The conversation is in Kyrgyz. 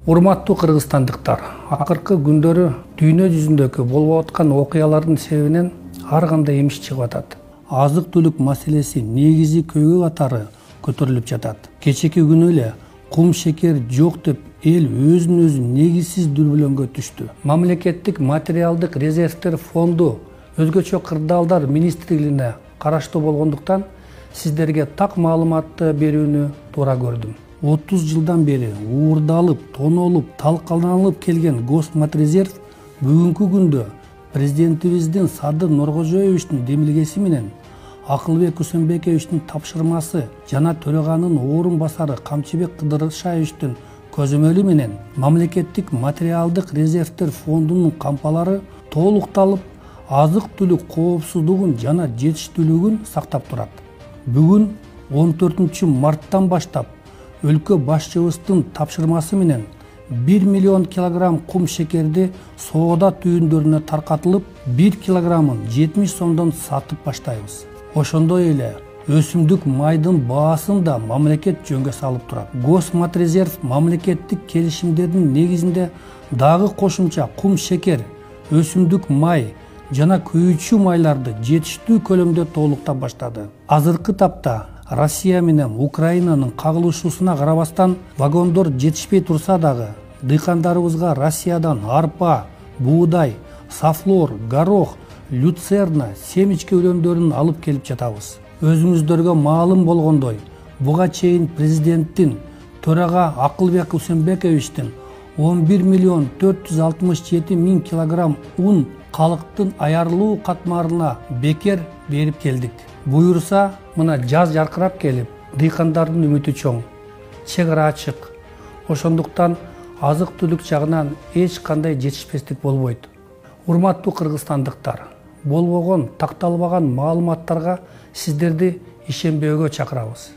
Урматтуу кыргызстандыктар, акыркы күндөрү дүйнө жүзүндөгү болуп аткан окуялардын себебинен ар кандай эмиш чыгып атат. Азык-түлүк маселеси негизи көйгөй катары көтөрүлүп жатат. Кечеки күнү эле кум шекер жок деп эл өзүн негизсиз дүрбөлөңгө түштү. Мамлекеттик материалдык резервдер фонду өзгөчө кырдаалдар министрлигине караштуу болгондуктан сиздерге так маалыматты берүүнү туура көрдүм. 30 жылдан бери уурдалып, тонолуп, талкаланылып келген Госматрезерв бүгүнкү күндө президентибиздин Садыр Нуркожоевичтин демилгеси менен Акылбек Усенбековичтин тапшырмасы жана төраганын орун басары Камчыбек Кыдыршаевичтин көзөмөлү менен мамлекеттик материалдык резервдер фондунун кампалары толукталып, азык-түлүк коопсуздугун жана жетиштүүлүгүн сактап турат. Бүгүн 14 марттан баштап өлкө башчыбыздын тапшырмасы менен 1 миллион килограмм кум шекерди соода түйүндөрүнө таркатылып, 1 килограммын 70 сомдон сатып баштайбыз. Ошондой эле өсүмдүк майдын баасын да мамлекет жөнгө салып турат. Госматрезерв мамлекеттик келишимдердин негизинде дагы кошумча кум шекер, өсүмдүк май жана күйүүчү майларды жетиштүү көлөмдө толуктап баштады. Азыркы тапта Россия менен Украинанын кагылышуусуна карабастан вагондор жетишпей турса дагы, дыйкандарыбызга Россиядан арпа, буудай, сафлор, горох, люцерна, семечке үлөндөрүн алып келип жатабыз. Өзүңүздөргө маалым болгондой, буга чейин президенттин төрага Акылбек Усенбековичтин 11 миллион 467 миң килограмм ун калктын аярылуу катмарына бекер берип келдик. Буюрса, мына жаз жаркырап келип, дыйкандардын үмүтү чоң, чек ара ачык. Ошондуктан азык-түлүк жагынан эч кандай жетишпестик болбойт. Урматтуу кыргызстандыктар, болбогон, такталбаган маалыматтарга сиздерди ишенбөөгө чакырабыз.